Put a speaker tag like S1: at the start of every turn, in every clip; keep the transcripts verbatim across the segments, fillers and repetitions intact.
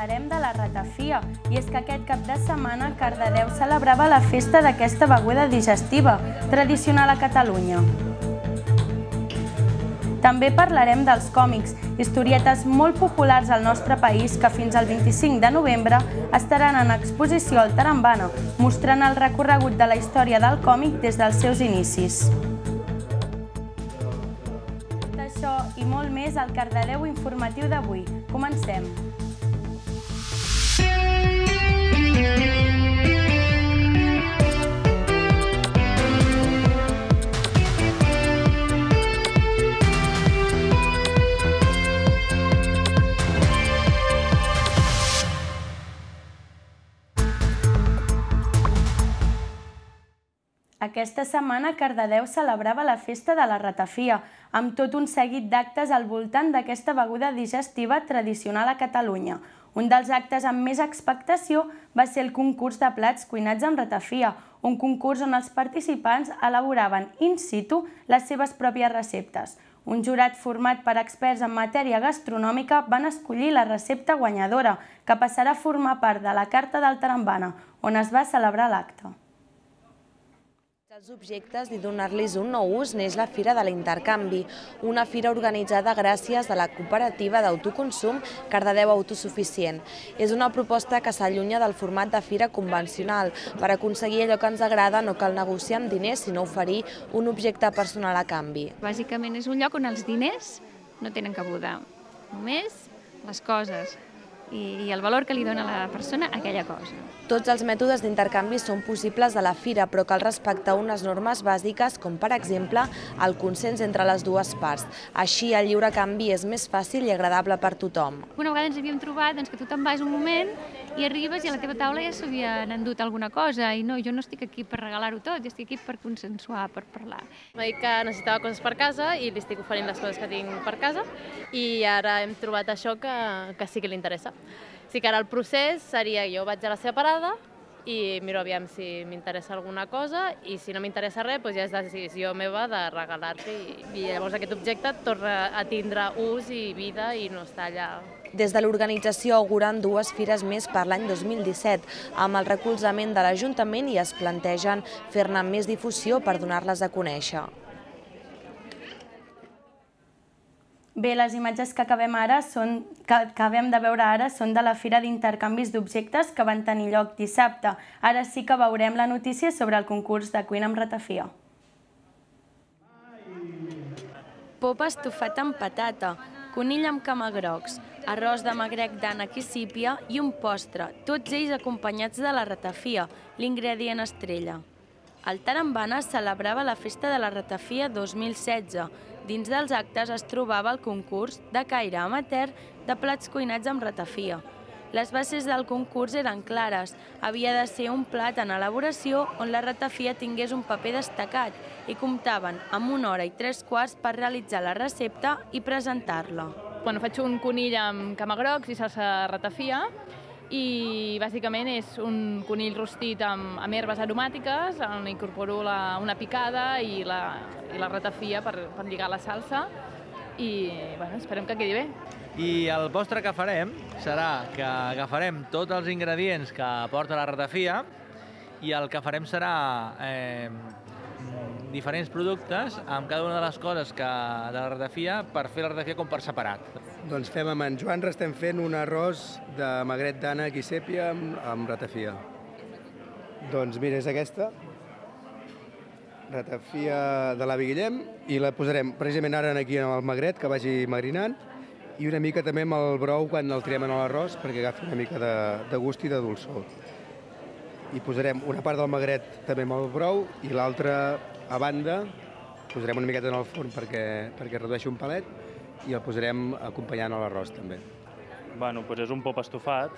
S1: parlarem de la ratafia, i és que aquest cap de setmana Cardedeu celebrava la festa d'aquesta beguda digestiva, tradicional a Catalunya. També parlarem dels còmics, historietes molt populars al nostre país que fins al vint-i-cinc de novembre estaran en exposició al Tarambana, mostrant el recorregut de la història del còmic des dels seus inicis. Tot això i molt més al Cardedeu informatiu d'avui. Comencem! Aquesta setmana Cardedeu celebrava la festa de la ratafia, amb tot un seguit d'actes al voltant d'aquesta beguda digestiva tradicional a Catalunya. Un dels actes amb més expectació va ser el concurs de plats cuinats amb ratafia, un concurs on els participants elaboraven in situ les seves pròpies receptes. Un jurat format per experts en matèria gastronòmica van escollir la recepta guanyadora, que passarà a formar part de la Carta del Tarambana, on es va celebrar l'acte.
S2: Els objectes i donar-los un nou ús neix la Fira de l'Intercanvi, una fira organitzada gràcies a la cooperativa d'autoconsum Cardedeu Autosuficient. És una proposta que s'allunya del format de fira convencional. Per aconseguir allò que ens agrada no cal negociar amb diners, sinó oferir un objecte personal a canvi.
S3: Bàsicament és un lloc on els diners no tenen cabuda, només les coses i el valor que li dona la persona a aquella cosa.
S2: Tots els mètodes d'intercanvi són possibles a la fira, però cal respectar unes normes bàsiques, com per exemple el consens entre les dues parts. Així el lliure canvi és més fàcil i agradable per tothom.
S3: Una vegada ens havíem trobat que tu te'n vas un moment i arribes i a la teva taula ja s'havien endut alguna cosa i no, jo no estic aquí per regalar-ho tot, jo estic aquí per consensuar, per parlar.
S4: M'ha dit que necessitava coses per casa i li estic oferint les coses que tinc per casa i ara hem trobat això que, que sí que li interessa. Sí que ara el procés seria jo vaig a la seva parada i miro aviam si m'interessa alguna cosa i si no m'interessa res doncs ja és decisió meva de regalar-li i llavors aquest objecte torna a tindre ús i vida i no està allà.
S2: Des de l'organització auguren dues fires més per l'any dos mil disset, amb el recolzament de l'Ajuntament i es plantegen fer-ne més difusió per donar-les a conèixer.
S1: Bé, les imatges que acabem, ara són, que acabem de veure ara són de la Fira d'Intercanvis d'Objectes que van tenir lloc dissabte. Ara sí que veurem la notícia sobre el concurs de cuina amb ratafia.
S5: Pop estofat amb patata, conill amb camagrocs, arròs de magrec d'ànec i sípia i un postre, tots ells acompanyats de la ratafia, l'ingredient estrella. El Tarambana celebrava la Festa de la Ratafia dos mil setze. Dins dels actes es trobava el concurs de caire amateur de plats cuinats amb ratafia. Les bases del concurs eren clares. Havia de ser un plat en elaboració on la ratafia tingués un paper destacat i comptaven amb una hora i tres quarts per realitzar la recepta i presentar-la.
S4: Bueno, faig un conill amb camagrocs i salsa ratafia i bàsicament és un conill rostit amb, amb herbes aromàtiques, on incorporo la, una picada i la, i la ratafia per, per lligar la salsa i bueno, esperem que quedi bé.
S6: I el postre que farem serà que agafarem tots els ingredients que porta la ratafia i el que farem serà eh, diferents productes amb cada una de les coses que, de la ratafia per fer la ratafia com per separat.
S7: Doncs fem amb en Joan, estem fent un arròs de magret d'ànec i sèpia amb, amb ratafia. Doncs mira, és aquesta, ratafia de l'avi Guillem, i la posarem precisament ara aquí en el magret, que vagi marinant, i una mica també amb el brou quan el tirem en l'arròs perquè agafi una mica de, de gust i de dolçor. I posarem una part del magret també amb el brou i l'altra a banda, posarem una miqueta en el forn perquè, perquè redueixi un palet i el posarem acompanyant a l'arròs també.
S8: Bueno, doncs és un pop estofat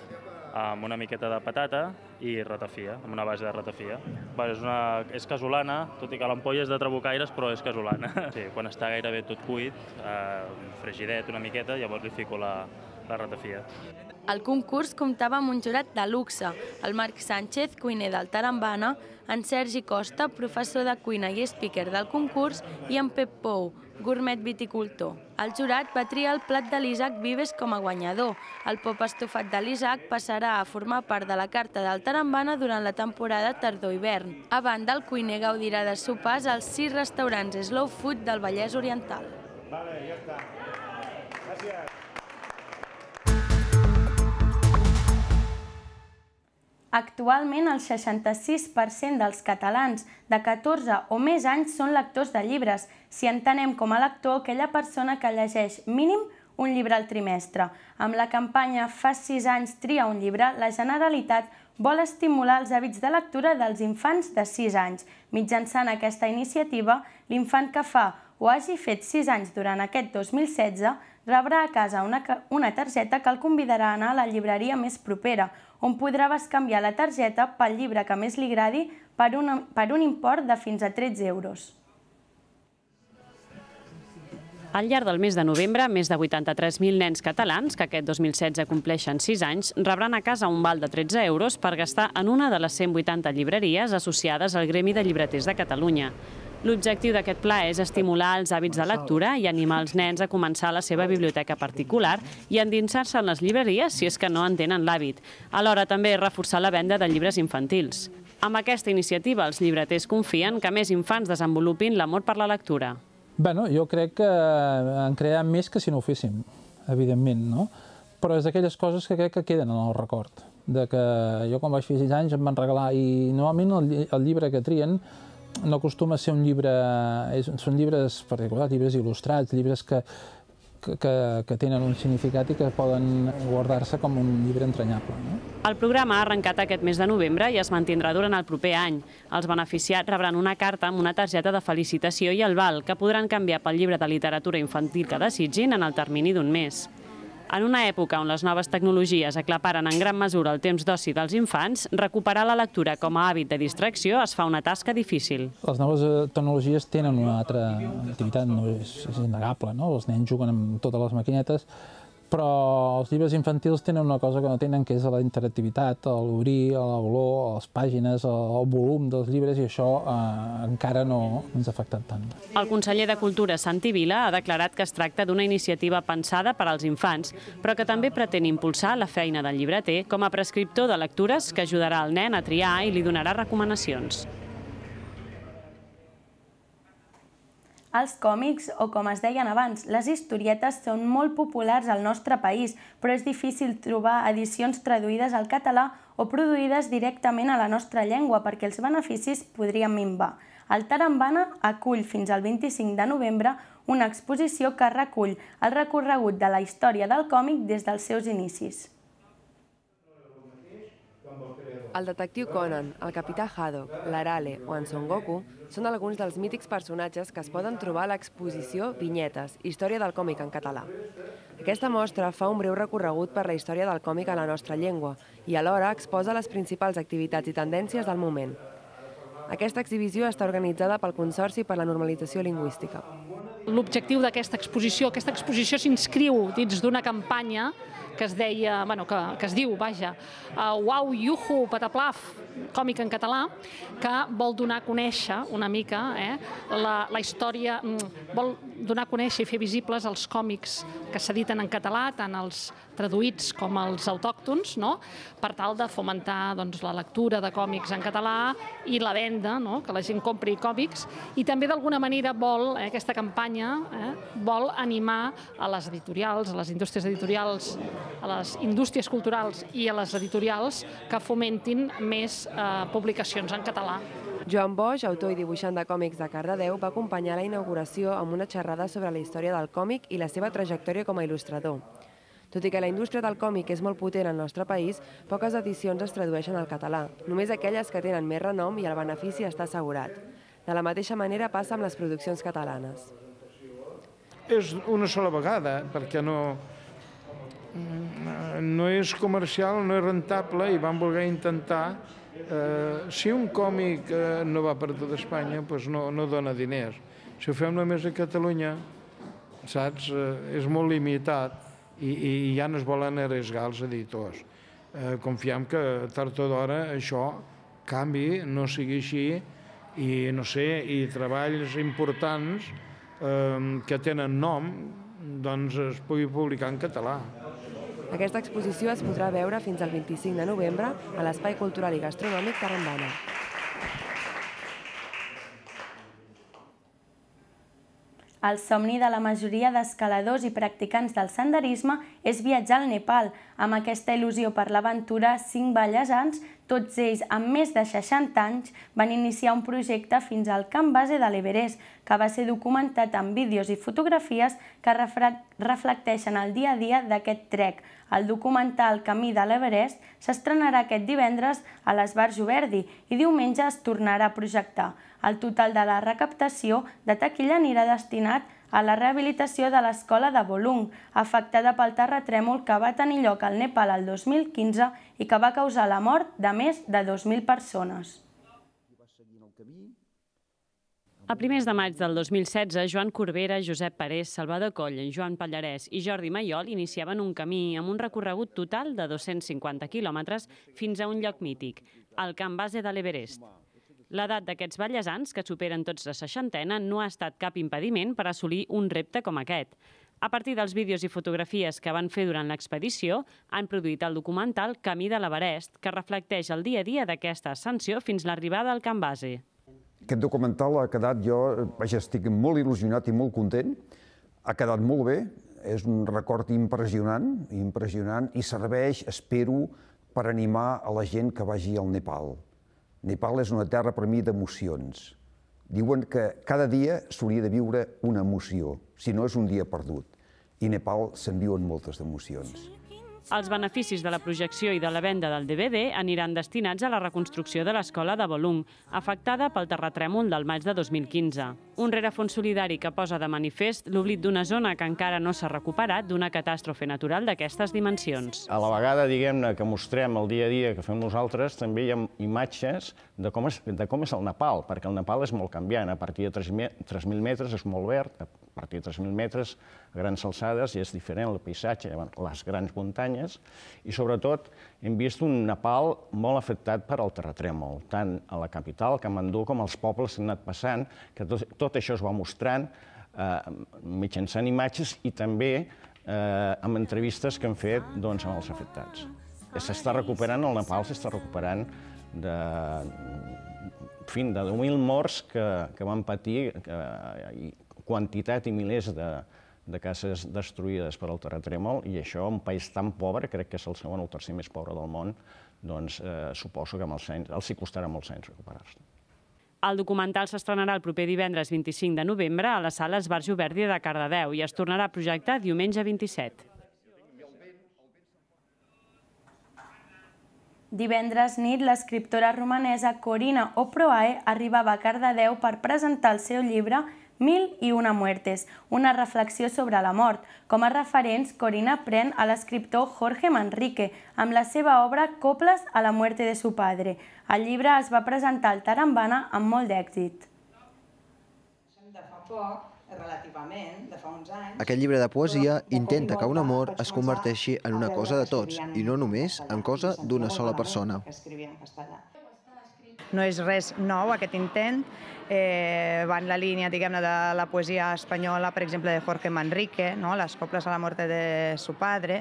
S8: amb una miqueta de patata i ratafia, amb una base de ratafia. Bueno, és, una, és casolana, tot i que l'ampolla és de trabucaires, però és casolana. Sí, quan està gairebé tot cuit, eh, fregidet una miqueta, llavors li fico la, la ratafia.
S5: El concurs comptava amb un jurat de luxe, el Marc Sánchez, cuiner del Tarambana, en Sergi Costa, professor de cuina i speaker del concurs, i en Pep Pou, gourmet viticultor. El jurat va triar el plat de l'Isaac Vives com a guanyador. El pop estofat de l'Isaac passarà a formar part de la carta del Tarambana durant la temporada tardor-hivern. A banda, el cuiner gaudirà de sopars als sis restaurants Slow Food del Vallès Oriental.
S9: Vale, ja està. Gràcies.
S1: Actualment, el seixanta-sis per cent dels catalans de catorze o més anys són lectors de llibres, si entenem com a lector aquella persona que llegeix mínim un llibre al trimestre. Amb la campanya Fa sis anys tria un llibre, la Generalitat vol estimular els hàbits de lectura dels infants de sis anys. Mitjançant aquesta iniciativa, l'infant que fa o hagi fet sis anys durant aquest dos mil setze rebrà a casa una, una targeta que el convidarà a anar a la llibreria més propera, on podrà bescanviar la targeta pel llibre que més li agradi per un, per un import de fins a tretze euros.
S10: Al llarg del mes de novembre, més de vuitanta-tres mil nens catalans, que aquest dos mil setze compleixen sis anys, rebran a casa un val de tretze euros per gastar en una de les cent vuitanta llibreries associades al Gremi de Llibreters de Catalunya. L'objectiu d'aquest pla és estimular els hàbits de lectura i animar els nens a començar la seva biblioteca particular i endinsar-se en les llibreries si és que no en tenen l'hàbit. Alhora també reforçar la venda de llibres infantils. Amb aquesta iniciativa, els llibreters confien que més infants desenvolupin l'amor per la lectura.
S11: Bueno, jo crec que en crearem més que si no ho féssim, evidentment, no? Però és d'aquelles coses que crec que queden en el record. De que jo quan vaig fer sis anys em van regalar, i normalment el llibre que trien no acostuma a ser un llibre, són llibres particulars, llibres il·lustrats, llibres que, que, que tenen un significat i que poden guardar-se com un llibre entranyable. No?
S10: El programa ha arrencat aquest mes de novembre i es mantindrà durant el proper any. Els beneficiats rebran una carta amb una targeta de felicitació i el val, que podran canviar pel llibre de literatura infantil que desitgin en el termini d'un mes. En una època on les noves tecnologies aclaparen en gran mesura el temps d'oci dels infants, recuperar la lectura com a hàbit de distracció es fa una tasca difícil.
S11: Les noves tecnologies tenen una altra activitat, no és, és innegable, no? Els nens juguen amb totes les maquinetes, però els llibres infantils tenen una cosa que no tenen, que és la interactivitat, l'obrir, l'olor, les pàgines, el volum dels llibres, i això eh, encara no ens ha afectat tant.
S10: El conseller de Cultura, Santi Vila, ha declarat que es tracta d'una iniciativa pensada per als infants, però que també pretén impulsar la feina del llibreter com a prescriptor de lectures que ajudarà el nen a triar i li donarà recomanacions.
S1: Els còmics, o com es deien abans, les historietes són molt populars al nostre país, però és difícil trobar edicions traduïdes al català o produïdes directament a la nostra llengua perquè els beneficis podrien minvar. El Tarambana acull fins al vint-i-cinc de novembre una exposició que recull el recorregut de la història del còmic des dels seus inicis.
S12: El detectiu Conan, el capità Haddock, l'Arale o en Son Goku són alguns dels mítics personatges que es poden trobar a l'exposició Vinyetes, història del còmic en català. Aquesta mostra fa un breu recorregut per la història del còmic a la nostra llengua i alhora exposa les principals activitats i tendències del moment. Aquesta exhibició està organitzada pel Consorci per la Normalització Lingüística.
S13: L'objectiu d'aquesta exposició, aquesta exposició s'inscriu dins d'una campanya que es deia, bueno, que, que es diu, vaja, uh, Uau, Iuhu, Pataplaf, còmic en català, que vol donar a conèixer una mica eh, la, la història, vol donar a conèixer i fer visibles els còmics que s'editen en català, tant els traduïts com els autòctons, no? Per tal de fomentar doncs, la lectura de còmics en català i la venda, no? Que la gent compri còmics, i també d'alguna manera vol, eh, aquesta campanya, eh, vol animar a les editorials, a les indústries editorials, a les indústries culturals i a les editorials que fomentin més eh, publicacions en català.
S12: Joan Boix, autor i dibuixant de còmics de Cardedeu, va acompanyar la inauguració amb una xerrada sobre la història del còmic i la seva trajectòria com a il·lustrador. Tot i que la indústria del còmic és molt potent al nostre país, poques edicions es tradueixen al català, només aquelles que tenen més renom i el benefici està assegurat. De la mateixa manera passa amb les produccions catalanes.
S14: És una sola vegada, perquè no, no és comercial, no és rentable, i van voler intentar. Eh, si un còmic eh, no va per tot Espanya, doncs no, no dona diners. Si ho fem només a Catalunya, saps, eh, és molt limitat i, i ja no es volen arriesgar els editors. Eh, confiem que tard o d'hora això canvi, no sigui així, i no sé, i treballs importants que tenen nom, doncs es pugui publicar en català.
S12: Aquesta exposició es podrà veure fins al vint-i-cinc de novembre a l'Espai Cultural i Gastronòmic Tarambana.
S1: El somni de la majoria d'escaladors i practicants del senderisme és viatjar al Nepal. Amb aquesta il·lusió per l'aventura, cinc ballesans, tots ells amb més de seixanta anys, van iniciar un projecte fins al camp base de l'Everest, que va ser documentat amb vídeos i fotografies que reflecteixen el dia a dia d'aquest trek. El documental Camí de l'Everest s'estrenarà aquest divendres a l'Esbarjo Verdi i diumenge es tornarà a projectar. El total de la recaptació de taquilla anirà destinat a la rehabilitació de l'escola de Bolung, afectada pel terratrèmol que va tenir lloc al Nepal el dos mil quinze i que va causar la mort de més de dos mil persones.
S10: A primers de maig del dos mil setze, Joan Corbera, Josep Parés, Salvador Coll, Joan Pallarès i Jordi Mayol iniciaven un camí amb un recorregut total de dos-cents cinquanta quilòmetres fins a un lloc mític, el camp base de l'Everest. L'edat d'aquests ballesans, que superen tots la seixantena, no ha estat cap impediment per assolir un repte com aquest. A partir dels vídeos i fotografies que van fer durant l'expedició, han produït el documental Camí de l'Everest, que reflecteix el dia a dia d'aquesta ascensió fins l'arribada al camp base.
S15: Aquest documental ha quedat, jo estic molt il·lusionat i molt content, ha quedat molt bé, és un record impressionant, impressionant i serveix, espero, per animar a la gent que vagi al Nepal. Nepal és una terra per mi d'emocions. Diuen que cada dia s'hauria de viure una emoció, si no és un dia perdut. I a Nepal se'n viuen moltes emocions.
S10: Els beneficis de la projecció i de la venda del D V D aniran destinats a la reconstrucció de l'escola de Bolung, afectada pel terratrèmol del maig de dos mil quinze. Un rerefons solidari que posa de manifest l'oblit d'una zona que encara no s'ha recuperat d'una catàstrofe natural d'aquestes dimensions.
S16: A la vegada, diguem-ne, que mostrem el dia a dia que fem nosaltres, també hi ha imatges de com és, de com és el Nepal, perquè el Nepal és molt canviant. A partir de tres mil metres és molt verd, a partir de tres mil metres, a grans alçades, i és diferent el paisatge, les grans muntanyes, i sobretot hem vist un Nepal molt afectat per al terratrèmol, tant a la capital, Katmandú, com als pobles que han anat passant, que tot, tot això es va mostrant eh, mitjançant imatges i també eh, amb entrevistes que han fet doncs, amb els afectats. S'està recuperant, el Nepal s'està recuperant de, en fi, de deu mil morts que, que van patir, que, i quantitat i milers de, de cases destruïdes per al terratrèmol, i això, un país tan pobre, crec que és el segon o el tercer més pobre del món, doncs eh, suposo que amb els anys, els hi costarà molts anys recuperar-se.
S10: El documental s'estrenarà el proper divendres vint-i-cinc de novembre a la sala Esbarjo Verdi de Cardedeu i es tornarà a projectar diumenge vint-i-set.
S1: Divendres nit, l'escriptora romanesa Corina Oproae arribava a Cardedeu per presentar el seu llibre Mil i una muertes, una reflexió sobre la mort. Com a referents, Corina pren a l'escriptor Jorge Manrique amb la seva obra Coples a la muerte de su padre. El llibre es va presentar al Tarambana amb molt d'èxit.
S17: De fa poc, relativament, de fa uns anys...
S18: Aquest llibre de poesia intenta que un amor es converteixi en una cosa de tots i no només en cosa d'una sola persona.
S17: No és res nou, aquest intent. Eh, va en la línia, diguem-ne, de la poesia espanyola, per exemple, de Jorge Manrique, no? Les coples a la muerte de su padre.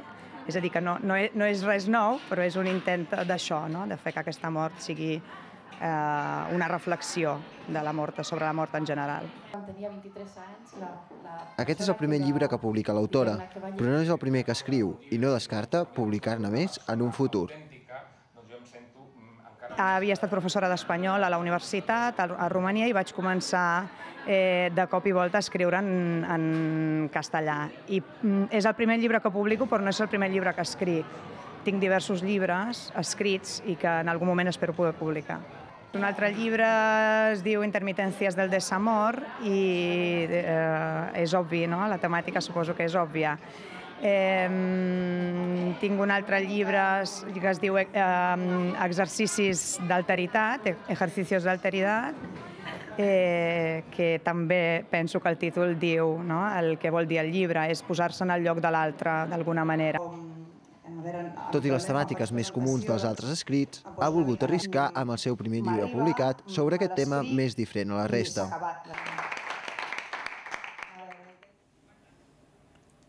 S17: És a dir, que no, no, és, no és res nou, però és un intent d'això, no? De fer que aquesta mort sigui eh, una reflexió de la mort, sobre la mort en general.
S19: Tenia vint-i-tres anys, la, la...
S18: Aquest és el primer llibre que publica l'autora, però no és el primer que escriu i no descarta publicar-ne més en un futur.
S17: Havia estat professora d'espanyol a la universitat, a Romania, i vaig començar eh, de cop i volta a escriure en, en castellà. I és el primer llibre que publico, però no és el primer llibre que escric. Tinc diversos llibres escrits i que en algun moment espero poder publicar. Un altre llibre es diu Intermitències del desamor i eh, és obvi, no? La temàtica suposo que és òbvia. Eh, tinc un altre llibre que es diu eh, Exercicis d'alteritat, Ejercicios d'alteritat, eh, que també penso que el títol diu, no? El que vol dir el llibre és posar-se en el lloc de l'altre, d'alguna manera.
S18: Tot i les temàtiques més comuns dels altres escrits, ha volgut arriscar amb el seu primer llibre publicat sobre aquest tema més diferent a la resta.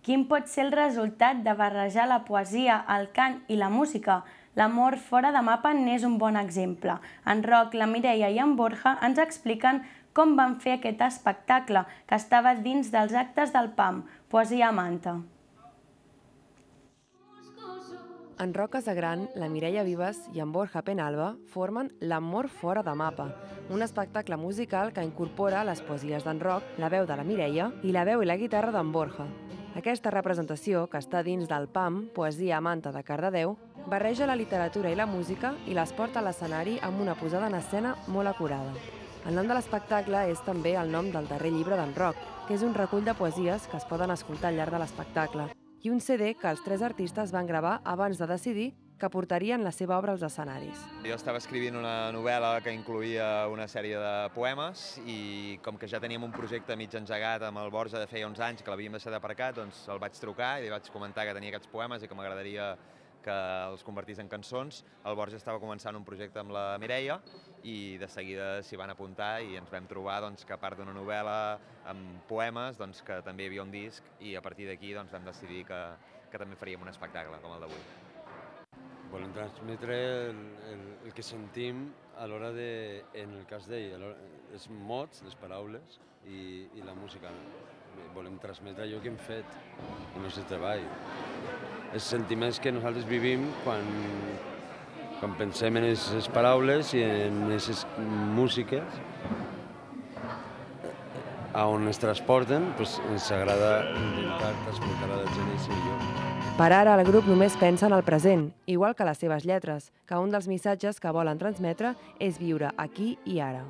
S1: Quin pot ser el resultat de barrejar la poesia, el cant i la música? L'amor fora de mapa n'és un bon exemple. En Roc, la Mireia i en Borja ens expliquen com van fer aquest espectacle, que estava dins dels actes del P A M, Poesia a Manta.
S12: En Roc Casagran, la Mireia Vives i en Borja Penalba formen L'amor fora de mapa, un espectacle musical que incorpora les poesies d'en Roc, la veu de la Mireia i la veu i la guitarra d'en Borja. Aquesta representació, que està dins del P A M, Poesia a Manta de Cardedeu, barreja la literatura i la música i les porta a l'escenari amb una posada en escena molt acurada. El nom de l'espectacle és també el nom del darrer llibre d'en Roc, que és un recull de poesies que es poden escoltar al llarg de l'espectacle, i un C D que els tres artistes van gravar abans de decidir que portarien la seva obra als escenaris.
S20: Jo estava escrivint una novel·la que incloïa una sèrie de poemes i com que ja teníem un projecte mig engegat amb el Borja de feia uns anys que l'havíem deixat aparcat, doncs el vaig trucar i li vaig comentar que tenia aquests poemes i que m'agradaria que els convertís en cançons. El Borja estava començant un projecte amb la Mireia i de seguida s'hi van apuntar i ens vam trobar que a part d'una novel·la amb poemes que també hi havia un disc i a partir d'aquí vam decidir que també faríem un espectacle com el d'avui.
S21: Volem transmetre el que sentim a l'hora de, en el cas d'ell, els mots, les paraules i la música. Volem transmetre allò que hem fet, el nostre treball. Els sentiments que nosaltres vivim quan, quan pensem en aquestes paraules i en aquestes músiques a on es transporten, doncs ens agrada intentar transmetre a la gent i ser millor.
S12: Per ara, el grup només pensa en el present, igual que les seves lletres, que un dels missatges que volen transmetre és viure aquí i ara.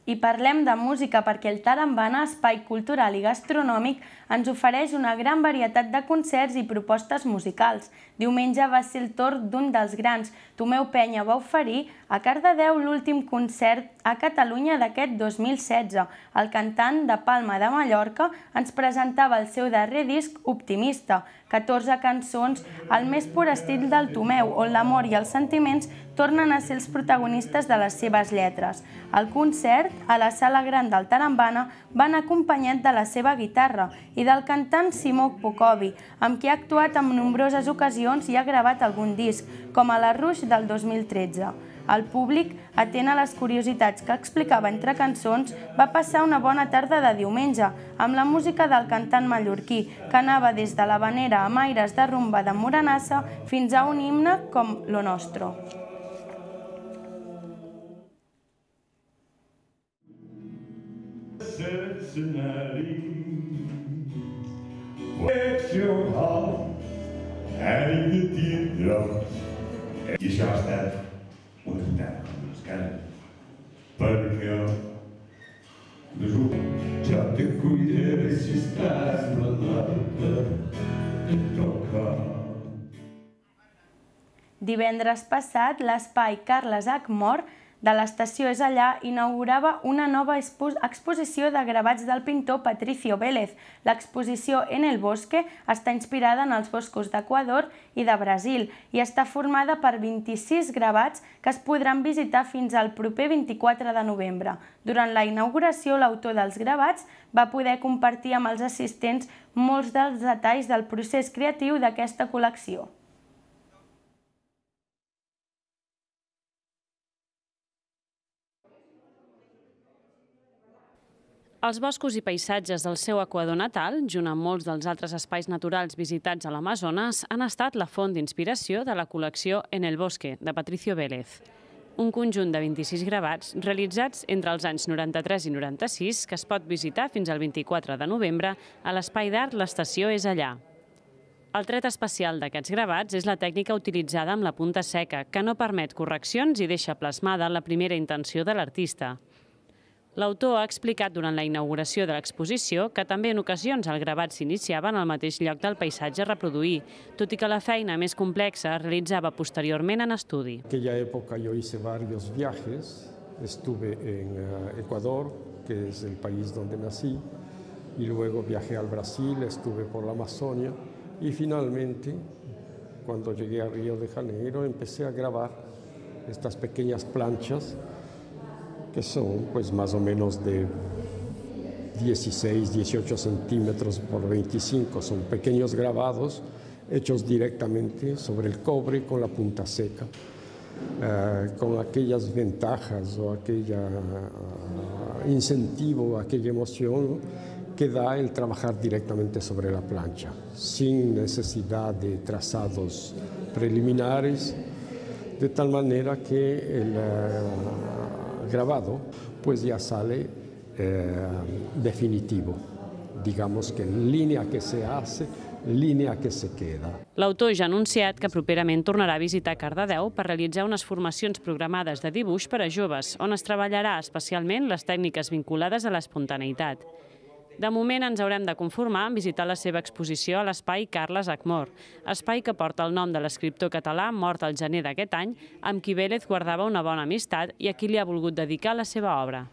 S1: I parlem de música perquè el Tarambana, espai cultural i gastronòmic, ens ofereix una gran varietat de concerts i propostes musicals. Diumenge va ser el torn d'un dels grans. Tomeu Penya va oferir a Cardedeu l'últim concert a Catalunya d'aquest dos mil setze. El cantant de Palma de Mallorca ens presentava el seu darrer disc Optimista, catorze cançons al més pur estil del Tomeu, on l'amor i els sentiments tornen a ser els protagonistes de les seves lletres. El concert, a la sala gran del Tarambana, van acompanyat de la seva guitarra i del cantant Simó Pocovi, amb qui ha actuat en nombroses ocasions i ha gravat algun disc, com a la Rush del dos mil tretze. El públic, atent a les curiositats que explicava entre cançons, va passar una bona tarda de diumenge, amb la música del cantant mallorquí, que anava des de l'havanera amb aires de rumba de Moranassa fins a un himne com Lo Nostro.
S9: I això ha estat una estat com les cases, perquè jo te cuidaré si estàs malalta, et toca.
S1: Divendres passat, l'espai Carles Hac Mor de l'Estació És Allà inaugurava una nova exposició de gravats del pintor Patricio Vélez. L'exposició En el Bosque està inspirada en els boscos d'Equador i de Brasil i està formada per vint-i-sis gravats que es podran visitar fins al proper vint-i-quatre de novembre. Durant la inauguració, l'autor dels gravats va poder compartir amb els assistents molts dels detalls del procés creatiu d'aquesta col·lecció.
S10: Els boscos i paisatges del seu Equador natal, junt amb molts dels altres espais naturals visitats a l'Amazones, han estat la font d'inspiració de la col·lecció En el Bosque, de Patricio Vélez. Un conjunt de vint-i-sis gravats realitzats entre els anys noranta-tres i noranta-sis que es pot visitar fins al vint-i-quatre de novembre a l'espai d'art L'Estació És Allà. El tret especial d'aquests gravats és la tècnica utilitzada amb la punta seca, que no permet correccions i deixa plasmada la primera intenció de l'artista. L'autor ha explicat durant la inauguració de l'exposició que també en ocasions el gravat s'iniciava en el mateix lloc del paisatge a reproduir, tot i que la feina més complexa es realitzava posteriorment en estudi.
S22: En aquella época yo hice varios viajes, estuve en Ecuador, que es el país donde nací, y luego viajé al Brasil, estuve por la Amazonia, y finalmente, cuando llegué a Río de Janeiro, empecé a grabar estas pequeñas planchas que son pues más o menos de dieciséis, dieciocho centímetros por veinticinco. Son pequeños grabados hechos directamente sobre el cobre con la punta seca, uh, con aquellas ventajas o aquel uh, incentivo, aquella emoción que da el trabajar directamente sobre la plancha, sin necesidad de trazados preliminares, de tal manera que el uh, grabado pues ya sale Eh, definitivo, digamos que línia que se hace, línia que se queda.
S10: L'autor ja ha anunciat que properament tornarà a visitar Cardedeu per realitzar unes formacions programades de dibuix per a joves, on es treballarà especialment les tècniques vinculades a l'espontaneïtat. De moment ens haurem de conformar en visitar la seva exposició a l'espai Carles Acmor, espai que porta el nom de l'escriptor català mort al gener d'aquest any, amb qui Vélez guardava una bona amistat i a qui li ha volgut dedicar la seva obra.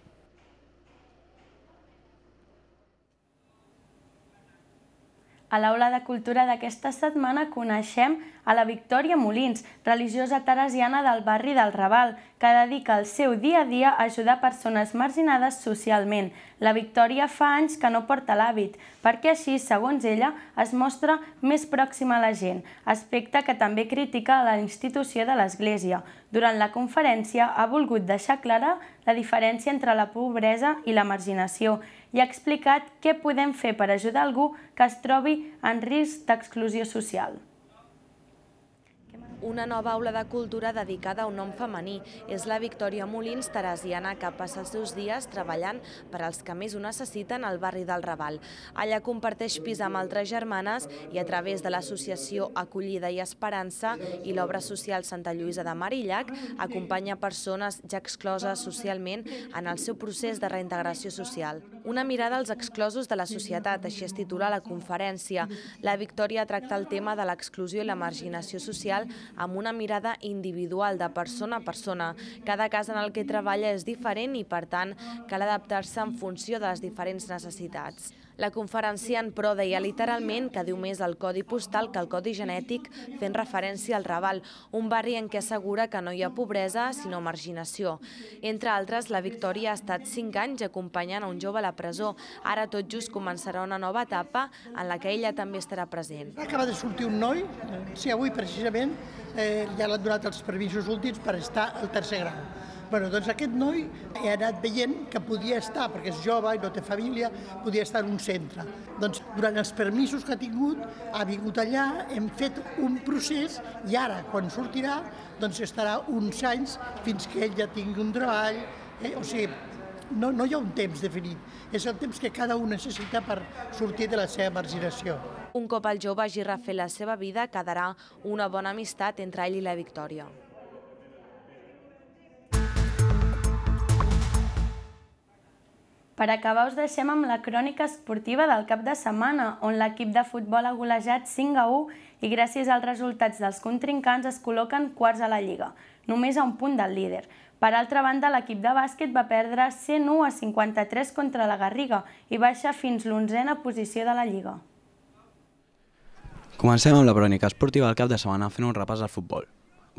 S1: A l'Aula de Cultura d'aquesta setmana coneixem a la Victòria Molins, religiosa teresiana del barri del Raval, que dedica el seu dia a dia a ajudar persones marginades socialment. La Victòria fa anys que no porta l'hàbit, perquè així, segons ella, es mostra més pròxima a la gent, aspecte que també critica la institució de l'Església. Durant la conferència ha volgut deixar clara la diferència entre la pobresa i la marginació i ha explicat què podem fer per ajudar algú que es trobi en risc d'exclusió social.
S2: Una nova aula de cultura dedicada a un nom femení. És la Victòria Molins, teresiana, que passa els seus dies treballant per als que més ho necessiten al barri del Raval. Allà comparteix pis amb altres germanes i a través de l'associació Acollida i Esperança i l'obra social Santa Lluïsa de Marillac acompanya persones ja excloses socialment en el seu procés de reintegració social. Una mirada als exclosos de la societat, així es titula la conferència. La Victòria tracta el tema de l'exclusió i la marginació social amb una mirada individual de persona a persona. Cada cas en el que treballa és diferent i, per tant, cal adaptar-se en funció de les diferents necessitats. La conferenciant, però, deia literalment que diu més el codi postal que el codi genètic, fent referència al Raval, un barri en què assegura que no hi ha pobresa, sinó marginació. Entre altres, la Victòria ha estat cinc anys acompanyant a un jove a la presó. Ara tot just començarà una nova etapa en la que ella també estarà present.
S3: Acaba de sortir un noi, sí, avui precisament, ja l'han donat els permisos últims per estar al tercer grau. Bueno, doncs aquest noi he anat veient que podia estar, perquè és jove i no té família, podia estar en un centre. Doncs durant els permisos que ha tingut, ha vingut allà, hem fet un procés i ara, quan sortirà, doncs estarà uns anys fins que ell ja tingui un treball. O sigui, no, no hi ha un temps definit, és el temps que cada un necessita per sortir de la seva marginació.
S2: Un cop el jove hagi refet la seva vida, quedarà una bona amistat entre ell i la Victòria.
S1: Per acabar, us deixem amb la crònica esportiva del cap de setmana, on l'equip de futbol ha golejat cinc a u i gràcies als resultats dels contrincants es col·loquen quarts a la Lliga, només a un punt del líder. Per altra banda, l'equip de bàsquet va perdre cent u a cinquanta-tres contra la Garriga i baixa fins l'onzena posició de la Lliga.
S23: Comencem amb la crònica esportiva del cap de setmana fent un repàs al futbol.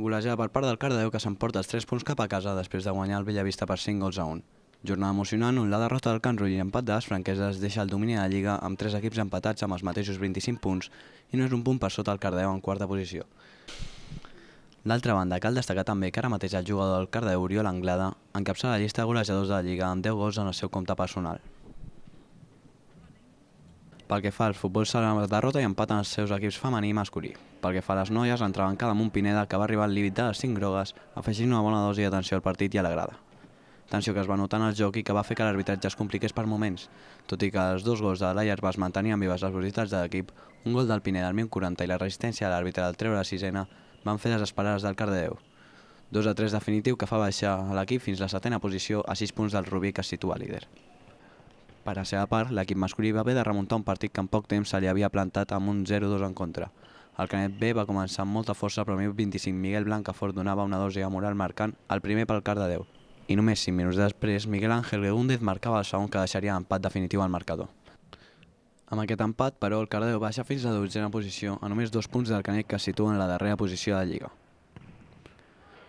S23: Golejada per part del Cardedeu, que s'emporta els tres punts cap a casa després de guanyar el Bellavista per cinc gols a un. Jornada emocionant on la derrota del Can Rull i l'empat de les franqueses deixa el domini de la Lliga amb tres equips empatats amb els mateixos vint-i-cinc punts i no és un punt per sota el Cardedeu en quarta posició. D'altra banda, cal destacar també que ara mateix el jugador del Cardedeu, Oriol Anglada, encapçala la llista de golejadors de la Lliga amb deu gols en el seu compte personal. Pel que fa al futbol sala, la derrota i empat en els seus equips femení i masculí. Pel que fa a les noies, l'entrebancada amb un Pineda que va arribar al límit de les cinc grogues, afegint una bona dosi d'atenció al partit i a la grada. Tensió que es va notar en el joc i que va fer que l'arbitratge es compliqués per moments. Tot i que els dos gols de l'Aia es mantenien vives les velocitats de l'equip, un gol del Pineda al minut quaranta i la resistència de l'àrbitre del treure la sisena van fer desesperar les del Cardedeu. dos a tres definitiu que fa baixar l'equip fins la setena posició a sis punts del Rubí, que es situa líder. Per a la seva part, l'equip masculí va haver de remuntar un partit que en poc temps se li havia plantat amb un zero dos en contra. El Canet B va començar amb molta força, però al minut vint-i-cinc Miguel Blancafort donava una dosi de moral marcant el primer pel Cardedeu. I només cinc minuts després, Miguel Ángel Gegúndez marcava el segon que deixaria l'empat definitiu al marcador. Amb aquest empat, però, el Cardedeu baixa fins a la dotzena posició, a només dos punts del Canet, que es situa en la darrera posició de la Lliga.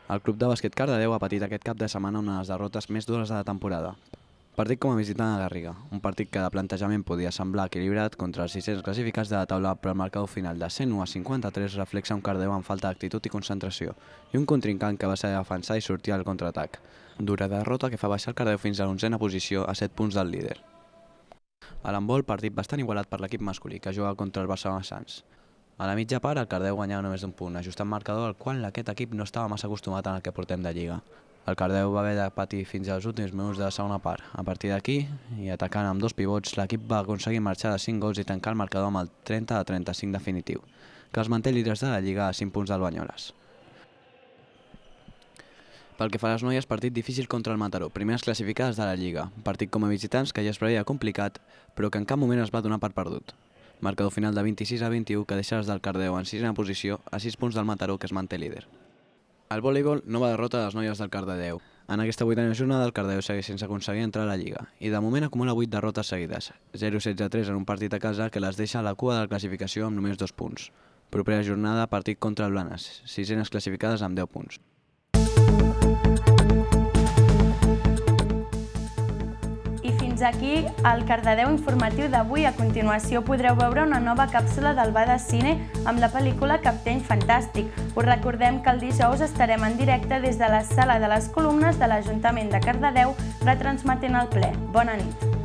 S23: El club de bàsquet Cardedeu ha patit aquest cap de setmana una de les derrotes més dures de la temporada. Partit com a visitant a Garriga, un partit que de plantejament podia semblar equilibrat contra els sis-cents classificats de la taula, però el marcador final de cent u a cinquanta-tres reflexa un Cardedeu amb falta d'actitud i concentració, i un contrincant que va saber defensar i sortir al contraatac. Dura derrota que fa baixar el Cardedeu fins a l'onzena posició a set punts del líder. A l'handbol, partit bastant igualat per l'equip masculí, que juga contra el Barcelona Sants. A la mitja part, el Cardedeu guanyava només d'un punt, ajustant marcador al qual aquest equip no estava massa acostumat en el que portem de Lliga. El Cardedeu va haver de patir fins als últims minuts de la segona part. A partir d'aquí, i atacant amb dos pivots, l'equip va aconseguir marxar de cinc gols i tancar el marcador amb el trenta a trenta-cinc definitiu, que els manté líders de la Lliga a cinc punts del Banyoles. Pel que fa a les noies, partit difícil contra el Mataró, primeres classificades de la Lliga. Partit com a visitants que ja es preveia complicat, però que en cap moment es va donar per perdut. Marcador final de vint-i-sis a vint-i-u que deixa els del Cardedeu en sisena posició a sis punts del Mataró, que es manté líder. Al voleibol, nova derrota de les noies del Cardedeu. En aquesta vuitena jornada, el Cardedeu segueix sense aconseguir entrar a la Lliga i de moment acumula vuit derrotes seguides, zero setze a tres en un partit a casa que les deixa a la cua de la classificació amb només dos punts. Propera jornada, partit contra el Blanes, sisenes classificades amb deu punts.
S1: I fins aquí el Cardedeu informatiu d'avui. A continuació podreu veure una nova càpsula del Bada Cine amb la pel·lícula Capteny Fantàstic. Us recordem que el dijous estarem en directe des de la Sala de les Columnes de l'Ajuntament de Cardedeu retransmetent el ple. Bona nit.